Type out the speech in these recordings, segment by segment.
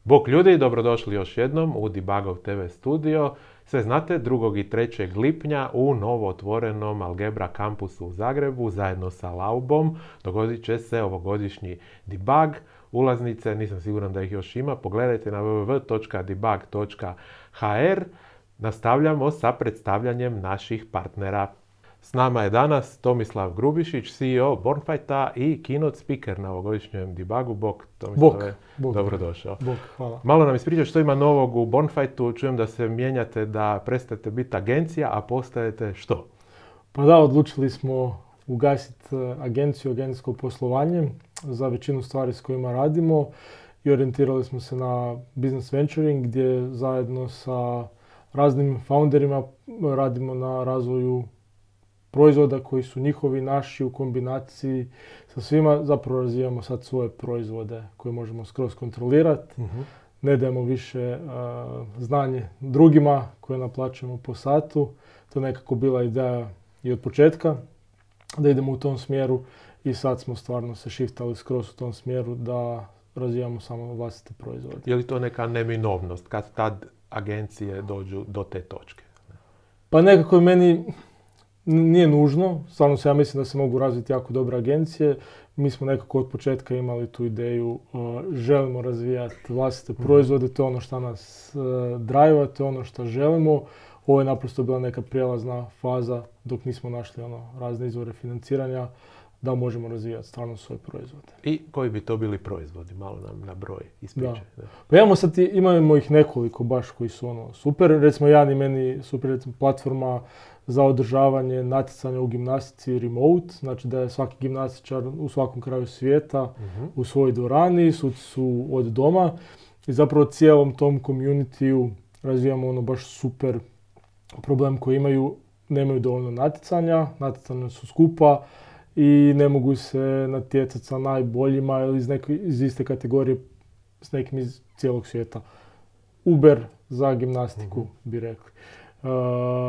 Bok ljudi, dobrodošli još jednom u Debugov TV studio. Sve znate, 2. i 3. lipnja u novo otvorenom Algebra kampusu u Zagrebu zajedno sa Laubom dogodit će se ovogodišnji debug. Ulaznice, nisam siguran da ih još ima, pogledajte na www.debug.hr. Nastavljamo sa predstavljanjem naših partnera. S nama je danas Tomislav Grubišić, CEO Bornfighta i keynote speaker na ovogodišnjem debugu. Bok, Tomislave, dobrodošao. Bok, hvala. Malo nam ispričaj što ima novog u Bornfightu. Čujem da se mijenjate, da prestajete biti agencija, a postajete što? Pa da, odlučili smo ugasiti agenciju, agencijsko poslovanje za većinu stvari s kojima radimo i orijentirali smo se na business venturing gdje zajedno sa raznim founderima radimo na razvoju proizvoda koji su njihovi, naši u kombinaciji sa svima. Zapravo razvijamo sad svoje proizvode koje možemo skroz kontrolirati. Ne dajemo više znanje drugima koje naplaćujemo po satu. To je nekako bila ideja i od početka da idemo u tom smjeru i sad smo stvarno se shiftali skroz u tom smjeru da razvijamo samo vlastite proizvode. Je li to neka neminovnost kad tad agencije dođu do te točke? Pa nekako meni nije nužno, stvarno ja mislim da se mogu razviti jako dobre agencije. Mi smo nekako od početka imali tu ideju, želimo razvijati vlastite proizvode, to je ono što nas drive-a, to je ono što želimo. Ovo je naprosto bila neka prijelazna faza dok nismo našli razne izvore financiranja da možemo razvijati stvarno svoje proizvode. I koji bi to bili proizvodi? Malo nam na broj ispričaj. Pa imamo ih nekoliko baš koji su super. Recimo jedan i meni super, recimo platforma za održavanje natjecanja u gimnastici remote, znači da je svaki gimnastičar u svakom kraju svijeta u svojoj dvorani, suci su od doma i zapravo cijelom tom community-u razvijamo baš super problem koji nemaju dovoljno natjecanja su skupa i ne mogu se natjecati sa najboljima ili iz iste kategorije s nekim iz cijelog svijeta. Uber za gimnastiku bi rekli.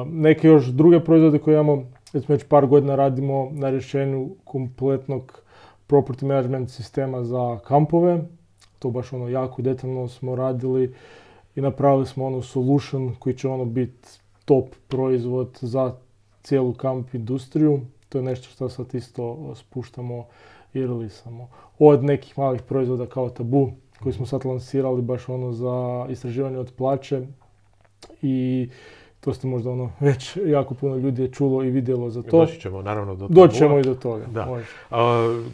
Neke još druge proizvode koje imamo, već par godina radimo na rješenju kompletnog property management sistema za kampove. To baš jako detaljno smo radili i napravili smo solution koji će biti top proizvod za cijelu kamp industriju. To je nešto što sad isto spuštamo i releasamo. Od nekih malih proizvoda kao Tabu koji smo sad lansirali baš za istraživanje od plaće i to ste možda već jako puno ljudi je čulo i vidjelo za to. Doći ćemo naravno do toga. Doći ćemo i do toga. Da.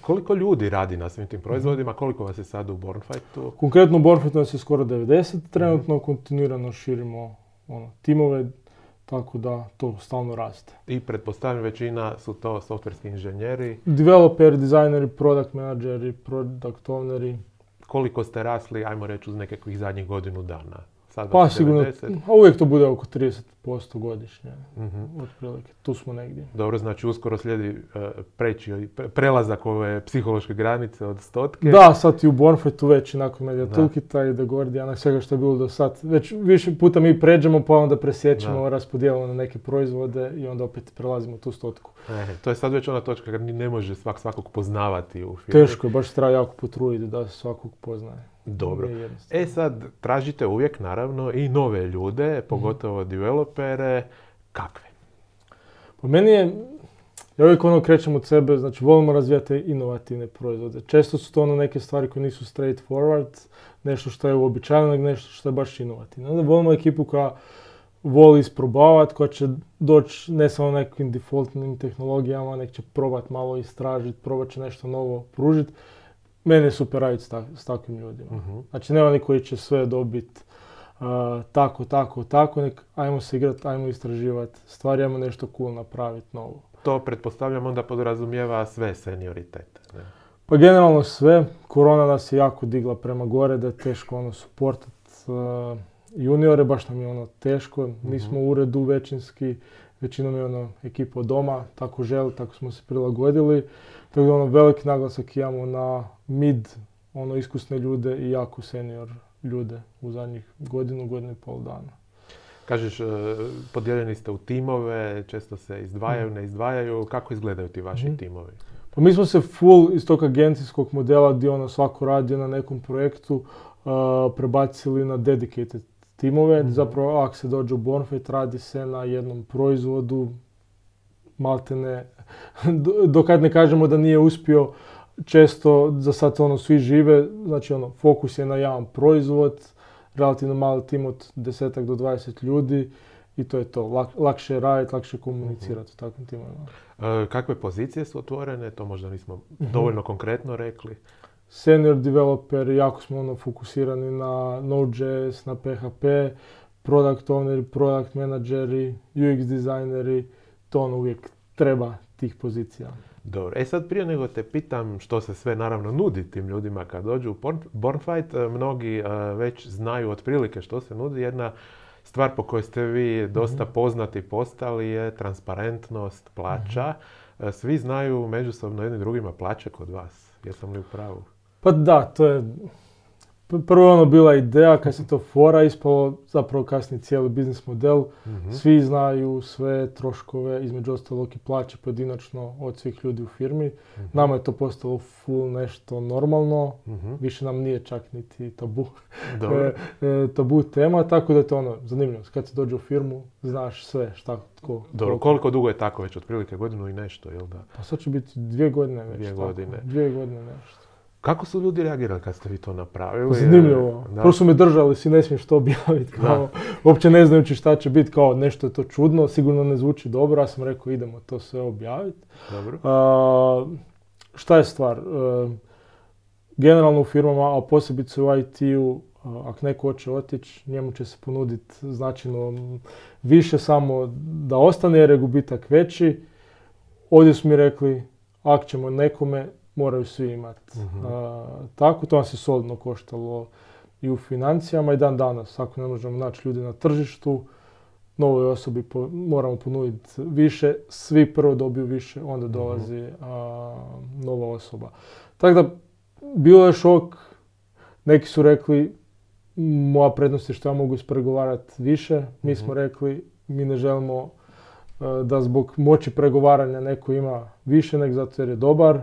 Koliko ljudi radi na svim tim proizvodima? Koliko vas je sad u Bornfightu? Konkretno u Bornfightu nas je skoro 90. Trenutno kontinuirano širimo timove, tako da to stalno raste. I pretpostavljam većina su to softverski inženjeri? Developeri, dizajneri, product menadžeri, product owneri. Koliko ste rasli, ajmo reći, uz nekakvih zadnjih godinu dana? Pa sigurno, uvijek to bude oko 30% godišnje, otprilike, tu smo negdje. Dobro, znači uskoro slijedi prelazak ove psihološke granice od 100. Da, sad i u Bornfightu već nakon Media Toolkita i The Guardiana, svega što je bilo do sad. Već više puta mi pređemo pa onda presjećemo, raspodijelimo na neke proizvode i onda opet prelazimo tu 100. To je sad već ona točka kad ne može svakog poznavati u firmi. Teško je, baš treba jako potruditi da se svakog poznaje. Dobro. Sad tražite uvijek naravno i nove ljude, pogotovo developere. Kakve? Po meni ja uvijek krećem od sebe, znači volimo razvijati inovativne proizvode. Često su to neke stvari koje nisu straightforward, nešto što je uobičajeno, nego nešto što je baš inovativno. Onda volimo ekipu koja voli isprobavati, koja će doći ne samo nekim defaultnim tehnologijama, nek će probati malo istražiti, probat će nešto novo pružiti. Mene je super raditi s takvim ljudima. Znači nema oni koji će sve dobiti tako, nek ajmo se igrati, ajmo istraživati stvari, ajmo nešto cool napraviti novo. To pretpostavljam onda podrazumijeva sve senioritete. Ne? Pa generalno sve. Korona nas je jako digla prema gore da je teško supportati juniore, baš nam je teško. Mi smo u uredu većinski, većinom je ekipa od doma, tako želi, tako smo se prilagodili. Tako da veliki naglasak imamo na mid, iskusne ljude i jako senior ljude u zadnjih godinu i pol dana. Kažeš, podijeljeni ste u timove, često se izdvajaju, ne izdvajaju. Kako izgledaju ti vaši timovi? Pa mi smo se full iz tog agencijskog modela gdje svako radi na nekom projektu prebacili na dedicated timove. Zapravo, ako se dođe u Bornfight, radi se na jednom proizvodu, maltene, dokad ne kažemo da nije uspio, često za sad svi žive, znači fokus je na jedan proizvod, relativno mali tim od 10 do 20 ljudi i to je to. Lakše je raditi, lakše komunicirati u takvim timovima. Kakve pozicije su otvorene? To možda nismo dovoljno konkretno rekli. Senior developer, jako smo fokusirani na Node.js, na PHP, product owneri, product menadžeri, UX dizajneri, to uvijek treba tih pozicija. Dobro, sad prije nego te pitam što se sve naravno nudi tim ljudima kad dođu u Bornfight, mnogi već znaju otprilike što se nudi. Jedna stvar po kojoj ste vi dosta poznati postali je transparentnost plaća. Svi znaju međusobno jedni drugima plaće kod vas. Jesam li u pravu? Pa da, to je prvo bila ideja, kad se to fora ispalo, zapravo kasnije cijeli biznis model. Svi znaju sve troškove, između ostalog i plaće pojedinačno od svih ljudi u firmi. Nama je to postalo full nešto normalno, više nam nije čak niti tabu tema, tako da je to zanimljivo. Kad se dođe u firmu, znaš sve šta, tko. Dobro, koliko dugo je tako već? Otprilike godinu i nešto, jel da? Pa sad će biti 2 godine već. 2 godine. 2 godine nešto. Kako su ljudi reagirali kad ste vi to napravili? Zanimljivo. Prvo su me držali, si ne smiješ to objaviti. Uopće ne znajući šta će biti, kao nešto je to čudno, sigurno ne zvuči dobro. Ja sam rekao idemo to sve objaviti. Dobro. Šta je stvar? Generalno u firmama, a posebice u IT-u, ako neko hoće otići, njemu će se ponuditi značajno više samo da ostane jer je gubitak veći. Ovdje su mi rekli, ako ćemo nekome, moraju svi imati. Tako, to nas je solidno koštalo i u financijama i dan danas. Ako ne možemo naći ljudi na tržištu, novoj osobi moramo ponuditi više, svi prvo dobiju više, onda dolazi nova osoba. Tako da, bilo je šok, neki su rekli, moja prednost je što ja mogu ispregovarati više, mi smo rekli, mi ne želimo da zbog moći pregovaranja neko ima više, nego zato jer je dobar.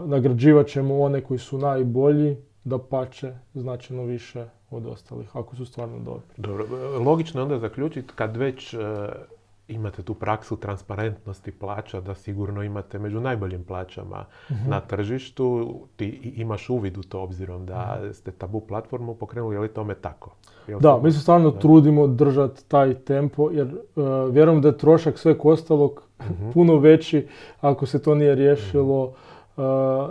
Nagrađivat ćemo one koji su najbolji, dapače značajno više od ostalih, ako su stvarno dobri. Dobro, logično je onda zaključiti kad već imate tu praksu transparentnosti plaća, da sigurno imate među najboljim plaćama na tržištu, ti imaš uvid u to obzirom da ste Tabu platformu pokrenuli, je li tome tako? Da, mi se stvarno trudimo držati taj tempo, jer vjerujem da je trošak sveg ostalog puno veći ako se to nije riješilo,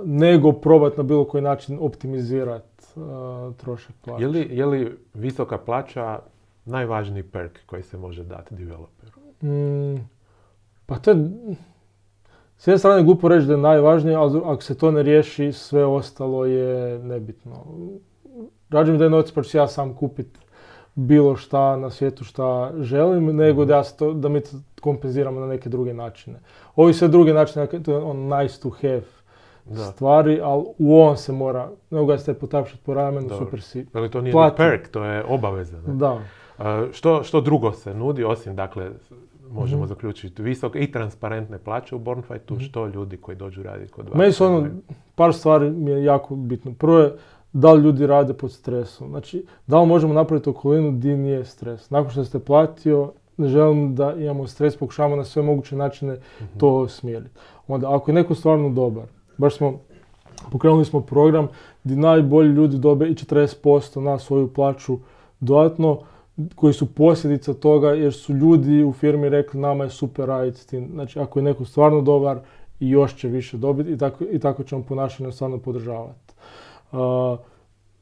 nego probati na bilo koji način optimizirati trošak plaća. Je li visoka plaća najvažniji perk koji se može dati developeru? Pa to je, s jedne strane glupo reći da je najvažnije, ali ako se to ne riješi, sve ostalo je nebitno. Rađe mi da je novac pa ću ja sam kupiti bilo šta na svijetu šta želim, nego da mi to kompenziramo na neke druge načine. Ovi sve druge načine, to je nice to have stvari, ali u ovom se mora, nego ga ste potapšati po ramenu, super si. Ali to nije ni perk, to je obaveza. Ne? Da. Što drugo se nudi, osim, dakle, možemo zaključiti visoke i transparentne plaće u Bornfightu, što ljudi koji dođu raditi kod vas? Meni su par stvari mi je jako bitno. Prvo je da li ljudi rade pod stresom. Znači, da li možemo napraviti okolinu gdje nije stres. Nakon što ste platio, ne želim da imamo stres, pokušavamo na sve moguće načine to smjeriti. Onda, ako je neko stvarno dobar, pokrenuli smo program gdje najbolji ljudi dobe i 40% na svoju plaću dodatno, koji su posljedica toga jer su ljudi u firmi rekli nama je super raditi s tim. Znači, ako je neko stvarno dobar, i još će više dobiti i tako ćemo ponašanje stvarno podržavati.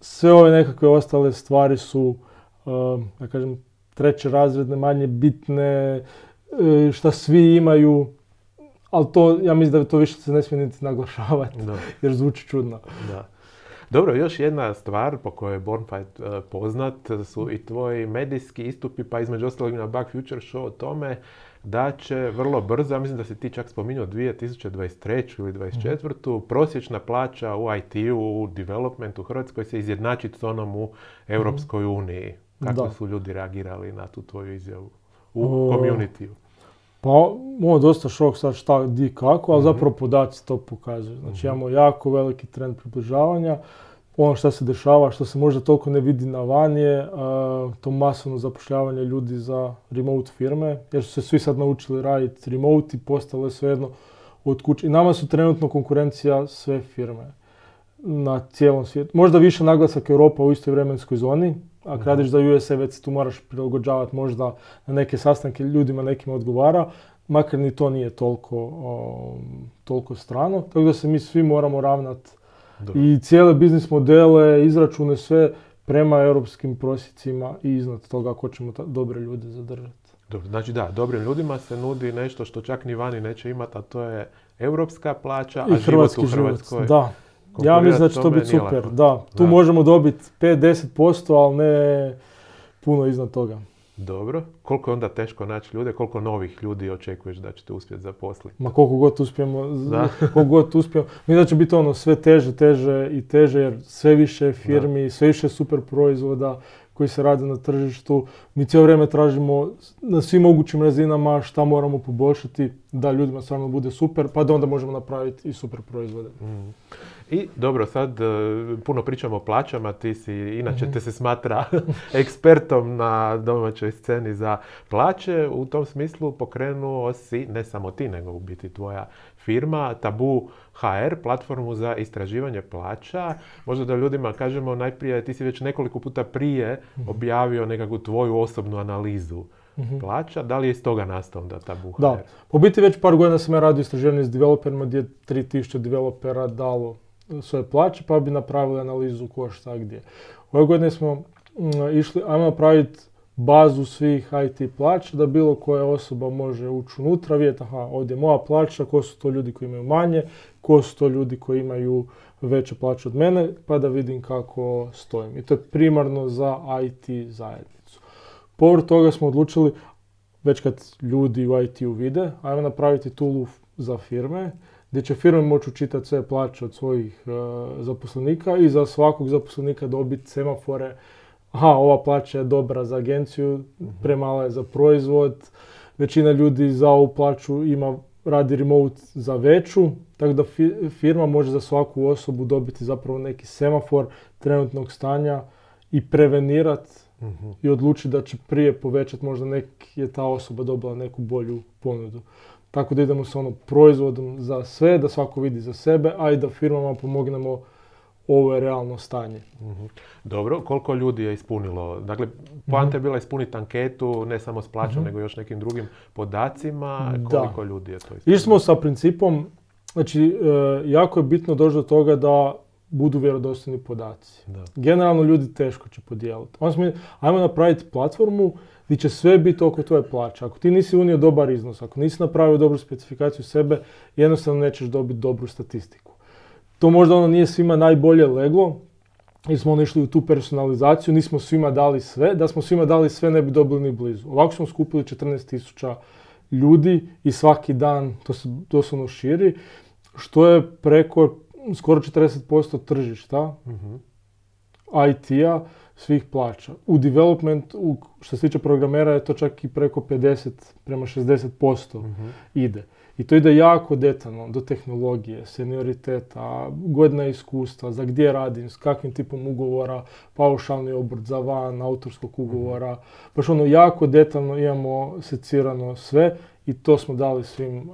Sve ove nekakve ostale stvari su, da kažem, treće razredne, manje bitne, šta svi imaju, ali to, ja mislim da to više se ne smije niti naglašavati, jer zvuči čudno. Da. Dobro, još jedna stvar po kojoj je Bornfight poznat su i tvoji medijski istupi, pa između ostalog na Bug Future Show o tome da će vrlo brzo, ja mislim da si ti čak spominjao 2023. ili 2024. Prosječna plaća u IT-u, u developmentu u Hrvatskoj se izjednačiti s onom u Europskoj uniji. Kako su ljudi reagirali na tu tvoju izjavu u community-u? Pa, dosta šok sad šta, di, kako, ali zapravo podaci to pokazuju. Znači, imamo jako veliki trend približavanja. Ono što se dešava, što se možda toliko ne vidi na van je to masovno zapošljavanje ljudi za remote firme, jer su se svi sad naučili raditi remote i postale svejedno od kuće. I nama su trenutno konkurencija sve firme na cijelom svijetu. Možda više naglasak Europa u istoj vremenskoj zoni, a kad radiš za USA već tu moraš prilagođavati možda na neke sastanke, ljudima nekima odgovara, makar ni to nije toliko strano. Tako da se mi svi moramo ravnati i cijele biznis modele, izračune, sve prema europskim prosjecima i iznad toga ako ćemo dobre ljude zadržati. Dobro, znači da, dobrim ljudima se nudi nešto što čak ni vani neće imati, a to je europska plaća, a život u Hrvatskoj. Da. Ja mislim da će to biti super. Da, tu možemo dobiti 5-10%, ali ne puno iznad toga. Dobro. Koliko je onda teško naći ljude? Koliko novih ljudi očekuješ da ćete uspjeti zaposliti? Ma koliko god uspijemo. Mislim da će biti sve teže i teže, jer sve više firmi, sve više super proizvoda koji se rade na tržištu. Mi cijelo vrijeme tražimo na svim mogućim razinama šta moramo poboljšati da ljudima stvarno bude super, pa da onda možemo napraviti i super proizvode. I dobro, sad puno pričamo o plaćama, ti si, inače te se smatra ekspertom na domaćoj sceni za plaće. U tom smislu pokrenuo si, ne samo ti, nego u biti tvoja firma, Tabu HR, platformu za istraživanje plaća. Možda da ljudima kažemo najprije, ti si već nekoliko puta prije objavio nekakvu tvoju osobnu analizu plaća. Da li je iz toga nastao onda Tabu HR? Da, po biti već par godina sam ja radio istraživanje s developerima gdje je 3000 developera dalo svoje plaće, pa bi napravili analizu ko šta gdje. Ove godine smo išli, ajmo napraviti bazu svih IT plaća da bilo koja osoba može ući unutra, vidjeti ovdje je moja plaća, ko su to ljudi koji imaju manje, ko su to ljudi koji imaju veće plaće od mene, pa da vidim kako stojim. I to je primarno za IT zajednicu. Povrh toga smo odlučili, već kad ljudi u IT-u vide, ajmo napraviti tool za firme, gdje će firme moći učitati sve plaće od svojih zaposlenika i za svakog zaposlenika dobiti semafore. Ova plaća je dobra za agenciju, premala je za proizvod, većina ljudi za ovu plaću radi remote za veću, tako da firma može za svaku osobu dobiti zapravo neki semafor trenutnog stanja i prevenirati i odlučiti da će prije povećati, možda je ta osoba dobila neku bolju ponudu. Tako da idemo s proizvodom za sve, da svako vidi za sebe, a i da firmama pomognemo ovo je realno stanje. Dobro, koliko ljudi je ispunilo? Dakle, poanta je bila ispuniti anketu, ne samo s plaćom, nego još nekim drugim podacima. Koliko ljudi je to ispunilo? Išli smo sa principom, znači, jako je bitno doći do toga da budu vjerodostojni podaci. Generalno ljudi teško će podijeliti. Ajmo napraviti platformu gdje će sve biti oko tvoje plaće. Ako ti nisi unio dobar iznos, ako nisi napravio dobru specifikaciju sebe, jednostavno nećeš dobiti dobru statistiku. To možda nije svima najbolje leglo, jer smo išli u tu personalizaciju, nismo svima dali sve. Da smo svima dali sve, ne bi dobili ni blizu. Ovako smo skupili 14.000 ljudi i svaki dan to se doslovno širi, što je preko skoro 40% tržišta IT-a svih plaća. U developmentu, što se tiče programera, je to čak i preko 50 prema 60% ide. I to ide jako detaljno do tehnologije, senioriteta, godina iskustva, za gdje radim, s kakvim tipom ugovora, paušalni obrt za van, autorskog ugovora. Baš jako detaljno imamo secirano sve i to smo dali svim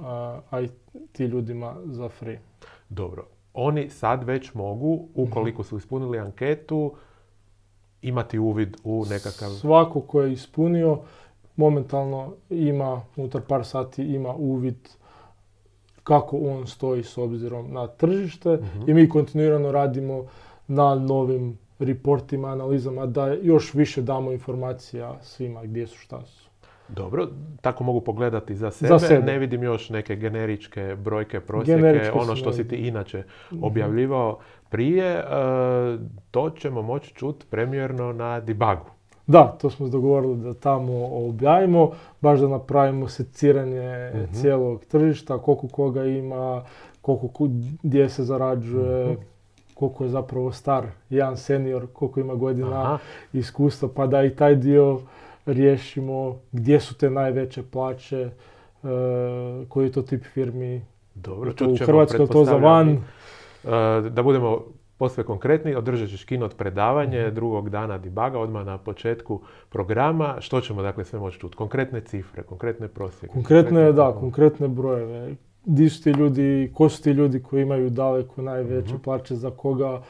IT ljudima za free. Dobro. Oni sad već mogu, ukoliko su ispunili anketu, imati uvid u nekakav... Svako ko je ispunio, momentalno ima, unutar par sati ima uvid kako on stoji s obzirom na tržište i mi kontinuirano radimo na novim reportima, analizama, da još više damo informacija svima gdje su, šta su. Dobro, tako mogu pogledati za sebe. Ne vidim još neke generičke brojke, prosjeke, ono što si ti inače objavljivao prije. To ćemo moći čuti premijerno na debugu. Da, to smo dogovorili da tamo objavimo, baš da napravimo seciranje cijelog tržišta, koliko koga ima, gdje se zarađuje, koliko je zapravo star jedan senior, koliko ima godina iskustva, pa da i taj dio riješimo, gdje su te najveće plaće, koji je to tip firmi. Dobro, u Hrvatskoj to za van. Da budemo posve konkretni, održat ćeš keynote predavanje drugog dana debuga, odmah na početku programa. Što ćemo dakle sve moći čuti? Konkretne cifre, konkretne prosjeke? Konkretne brojeve. Di su ti ljudi, ko su ti ljudi koji imaju daleko najveće plaće, za koga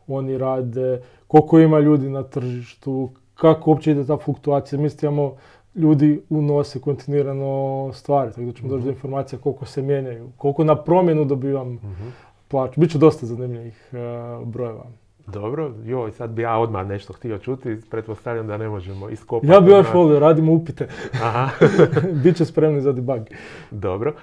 oni rade, koliko ima ljudi na tržištu, kako uopće ide ta fluktuacija. Mi imamo ljudi unose kontinuirano stvari, tako da ćemo doći do informacija koliko se mijenjaju, koliko na promjenu dobivam plaću. Biće dosta zanimljivih brojeva. Dobro, sad bi ja odmah nešto htio čuti, pretpostavljam da ne možemo iskopati. Ja bi još volio, radimo upite. Biće spremni za debug. Dobro,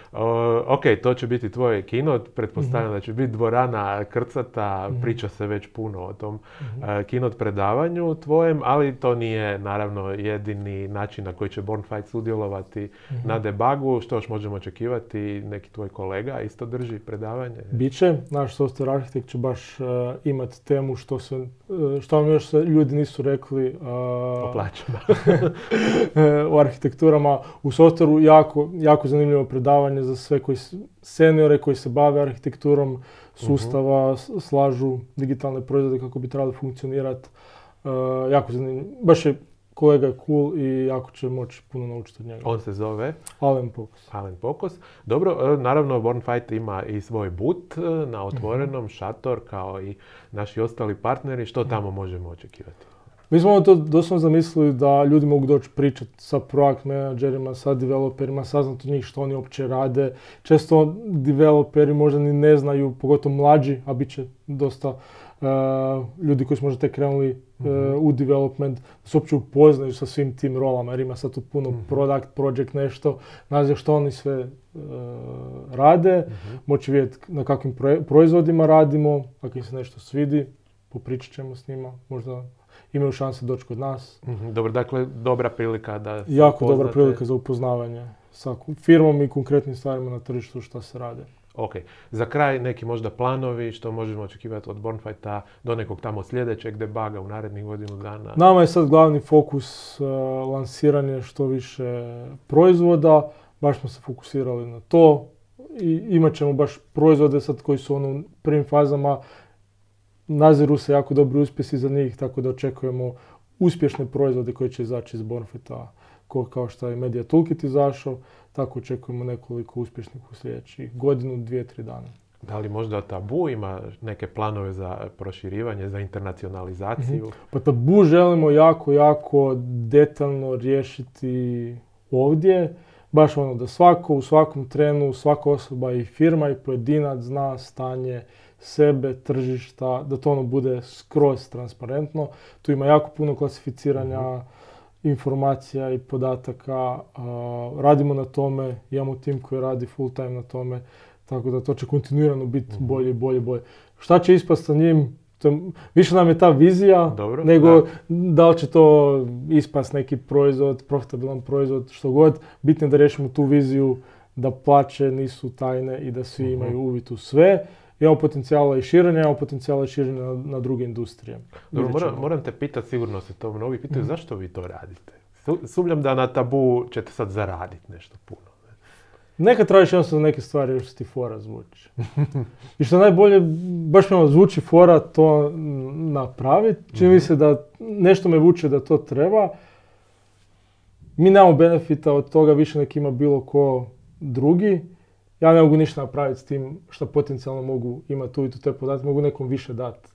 ok, to će biti tvoj keynote, pretpostavljam da će biti dvorana krcata, priča se već puno o tom keynote predavanju tvojem, ali to nije naravno jedini način na koji će Bornfight sudjelovati na debugu. Što još možemo očekivati, neki tvoj kolega isto drži predavanje? Biće, naš software arhitekt će baš imati temu što vam još ljudi nisu rekli o plaćama. O arhitekturama. U softwareu jako zanimljivo predavanje za sve seniore koji se bave arhitekturom sustava, slažu digitalne proizvode kako bi trebali funkcionirati. Jako zanimljivo. Baš je kolega je cool i jako će moći puno naučiti od njega. On se zove? Alen Pokos. Dobro, naravno Bornfight ima i svoj boot na otvorenom, šator kao i naši ostali partneri. Što tamo možemo očekivati? Mi smo to doslovno zamislili da ljudi mogu doći pričati sa product managerima, sa developerima, saznati od njih što oni uopće rade. Često developeri možda ni ne znaju, pogotovo mlađi, a bit će dosta ljudi koji su možda tek krenuli u development, da se uopće upoznaju sa svim tim rolama, jer ima sad tu puno product, project, nešto, naziv što oni sve rade, moći vidjeti na kakvim proizvodima radimo, ako im se nešto svidi, popričat ćemo s njima, možda imaju šanse doći kod nas. Dobro, dakle, dobra prilika da se jako dobra prilika za upoznavanje sa firmom i konkretnim stvarima na tržištu šta se rade. Ok. Za kraj neki možda planovi što možemo očekivati od Bornfighta do nekog tamo sljedećeg debuga u narednih godinu dana? Nama je sad glavni fokus lansiranje što više proizvoda. Baš smo se fokusirali na to. I imat ćemo baš proizvode sad koji su u prvim fazama. Naziru se jako dobri uspjesi za njih, tako da očekujemo uspješne proizvode koji će izaći iz Bornfighta. Kao što je Media Toolkit izašao, tako očekujemo nekoliko uspješnih u sljedećih godinu, 2-3 dana. Da li možda Tabu ima neke planove za proširivanje, za internacionalizaciju? Pa Tabu želimo jako detaljno riješiti ovdje. Baš da u svakom trenu, svaka osoba i firma i pojedinac zna stanje sebe, tržišta, da to bude skroz transparentno. Tu ima jako puno klasificiranja informacija i podataka. Radimo na tome, imamo tim koji radi full time na tome, tako da to će kontinuirano biti bolje. Šta će ispast sa njim? Više nam je ta vizija, nego da li će to ispast neki proizvod, profitabilan proizvod, što god. Bitno je da riješimo tu viziju, da plaće nisu tajne i da svi imaju uvid u sve. Imamo potencijala i širenja, na druge industrije. Dobro, moram te pitati, sigurno se to mnogi pitaju, zašto vi to radite? Sumnjam da na Tabu ćete sad zaraditi nešto puno. Nekad tražiš jednostavno neke stvari još ti fora zvuči. I što najbolje, baš mi zvuči fora to napraviti. Čini mi se da nešto me vuče da to treba. Mi nemamo benefita od toga više nek ima bilo ko drugi. Ja ne mogu ništa napraviti s tim što potencijalno mogu imati uvid u te podatke, mogu nekom više dati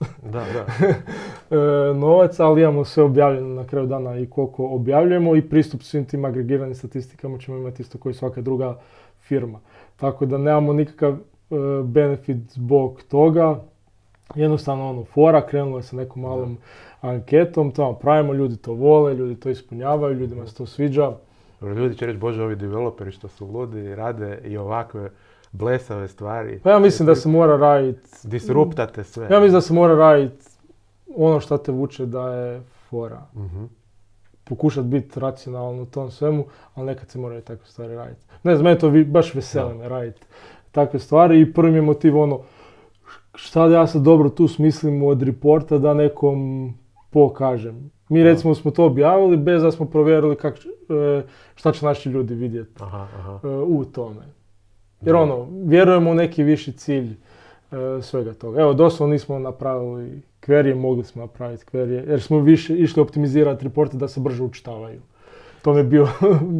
novac, ali imamo sve objavljeno na kraju dana i koliko objavljujemo i pristup svim tim agregiranim statistikama ćemo imati isto kao i svaka druga firma. Tako da nemamo nikakav benefit zbog toga. Jednostavno fora, krenulo je sa nekom malom anketom, to pravimo, ljudi to vole, ljudi to ispunjavaju, ljudima se to sviđa. Ljudi će reći, bože, ovi developeri što su ludi, rade i ovakve blesave stvari. Pa ja mislim da se mora raditi... Disruptate sve. Ja mislim da se mora raditi ono što te vuče da je fora. Pokušati biti racionalno u tom svemu, ali nekad se moraju takve stvari raditi. Ne znam, mene to baš veseli me raditi takve stvari i prvi mi je motiv šta da ja sad dobro tu smislim od reporta da nekom pokažem. Mi recimo smo to objavili bez da smo provjerili šta će naši ljudi vidjeti u tome. Jer vjerujemo u neki viši cilj svega toga. Evo, doslovno nismo napravili query, mogli smo napraviti query, jer smo više išli optimizirati reporte da se brže učitavaju. To mi je bio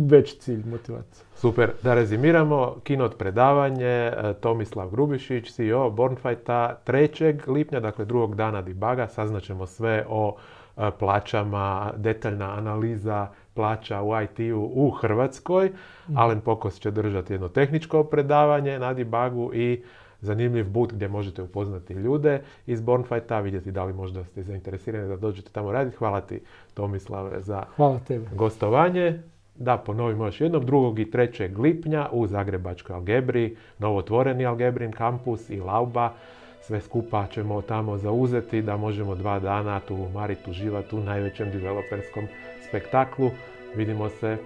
veći cilj, motivacija. Super, da rezimiramo, keynote predavanje, Tomislav Grubišić, CEO Bornfighta, 3. lipnja, dakle drugog dana debuga, saznaćemo sve o plaćama, detaljna analiza plaća u IT-u u Hrvatskoj. Alen Pokos će držati jedno tehničko predavanje na debugu i zanimljiv boot gdje možete upoznati ljude iz Bornfighta, vidjeti da li možda ste zainteresirani da dođete tamo raditi. Hvala ti, Tomislave, za gostovanje. Da ponovimo još jednom, 2. i 3. lipnja u Zagrebačkoj Algebri, novotvoreni Algebrin kampus i Lauba. Sve skupa ćemo tamo zauzeti da možemo 2 dana tu mariti, uživati u najvećem developerskom spektaklu. Vidimo se